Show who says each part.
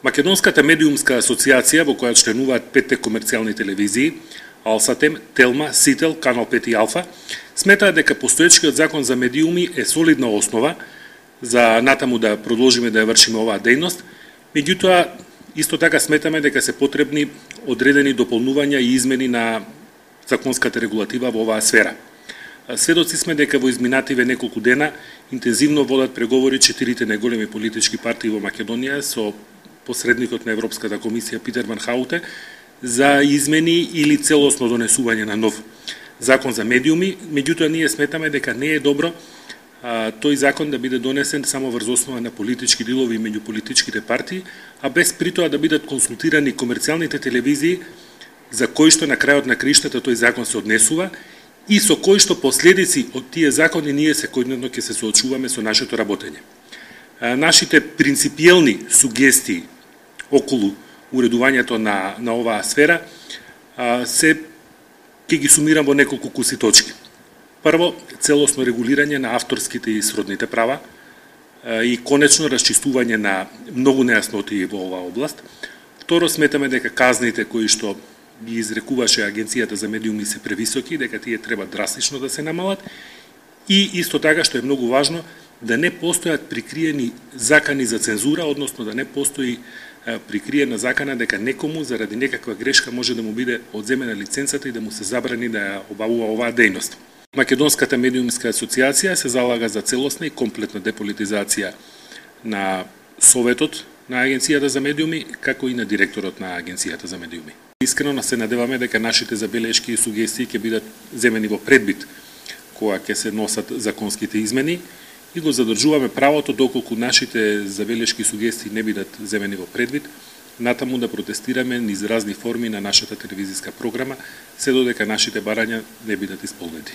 Speaker 1: Македонската медиумска асоциација, во која членуваат 5 комерцијални телевизии, Алсатем, Телма, Сител, Канал 5 и Алфа, сметаат дека постоечкиот закон за медиуми е солидна основа за натаму да продолжиме да ја вршиме оваа дејност. Меѓутоа, исто така сметаме дека се потребни одредени дополнувања и измени на законската регулатива во оваа сфера. Сведоци сме дека во изминативе неколку дена интензивно водат преговори 4 најголеми политички партии во Македонија со посредникот на Европската комисија Питер Ван Хауте за измени или целосно донесување на нов закон за медиуми. Меѓутоа, ние сметаме дека не е добро тој закон да биде донесен само врз основа на политички дилови меѓу политичките партии, а без притоа да бидат консултирани комерцијалните телевизии за кои што на крајот на криштата тој закон се однесува и со кои што последици од тие закони ние секојдневно ќе се соочуваме со нашето работење. Нашите принципиелни сугестии околу уредувањето на оваа сфера се ќе ги сумирам во неколку куси точки. Прво, целосно регулирање на авторските и сродните права и конечно расчистување на многу нејасноти во оваа област. Второ, сметаме дека казните кои што ги изрекуваше Агенцијата за медиуми се превисоки, дека тие треба драстично да се намалат и исто така што е многу важно да не постојат прикриени закани за цензура, односно да не постои прикриена закана дека некому заради некаква грешка може да му биде одземена лиценцата и да му се забрани да ја обавува оваа дејност. Македонската медиумска асоциација се залага за целосна и комплетна деполитизација на Советот на Агенцијата за медиуми, како и на директорот на Агенцијата за медиуми. Искрено се надеваме дека нашите забелешки и сугестии ќе бидат земени во предбит кога ќе се носат законските измени и го задржуваме правото доколку нашите забелешки и сугестии не бидат земени во предвид, натаму да протестираме низ разни форми на нашата телевизиска програма, се додека нашите барања не бидат исполнети.